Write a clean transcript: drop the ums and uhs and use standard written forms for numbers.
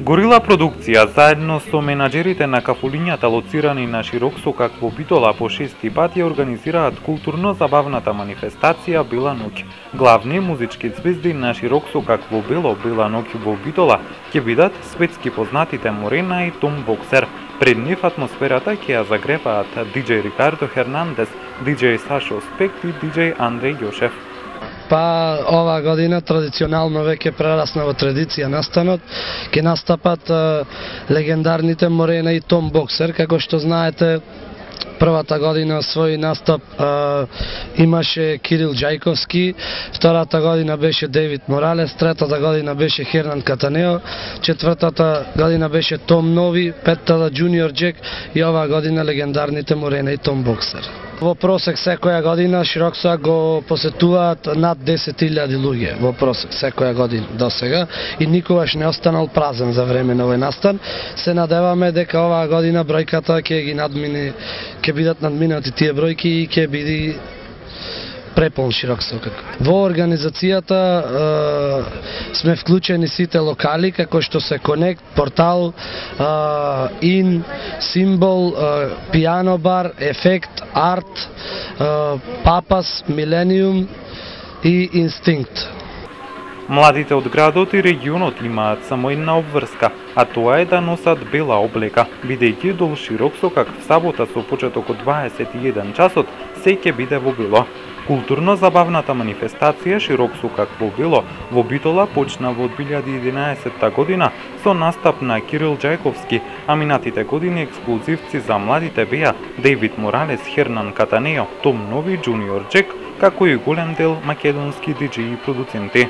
Горила продукција заедно со менаџерите на кафулињата лоцирани на Широксокак во Битола по 6 пат ја организираат културно-забавната манифестација Бела ноќ. Главни музички звезди на Широксокак во Бело Бела ноќ во Битола ќе бидат светски познатите Морена и Том Боксер. Пред нив атмосферата ќе ја загреваат диџеј Рикардо Хернандес, диџеј Сашо Спект и диџеј Андреј Јошев. Па ова година традиционално веќе прерасна во традиција настанот, ќе настапат легендарните Морена и Том Боксер. Како што знаете, првата година свој настап имаше Кирил Џајковски, втората година беше Девид Моралес, третата година беше Хернан Катанео, четвртата година беше Том Нови, петтата Джуниор Джек и оваа година легендарните Морена и Том Боксер. Во просек секоја година Широксокак го посетуваат над 10.000 луѓе во просек секоја година до сега и никогаш не останал празен за време на овој настан. Се надеваме дека оваа година бројката ќе ги надмине, ќе бидат надминати тие бројки и ќе биде преполн Широксокак. Во организацијата сме вклучени сите локали, како што се Конект, Портал, Ин, Симбол, Пијано бар, Ефект, Арт, Папас, Милениум и Инстинкт. Младите од градот и регионот имаат само една обврска, а тоа е да носат бела облека, бидејќи до Широксокак в сабота со почеток од 21 часот се ќе биде во бело. Културно-забавната манифестација Широксокак во Бело во Битола почна во 2011 година со настап на Кирил Џајковски, а минатите години ексклузивци за младите беа Девид Моралес, Хернан Катанео, Том Нови, Джуниор Джек, како и голем дел македонски диџеи и продуценти.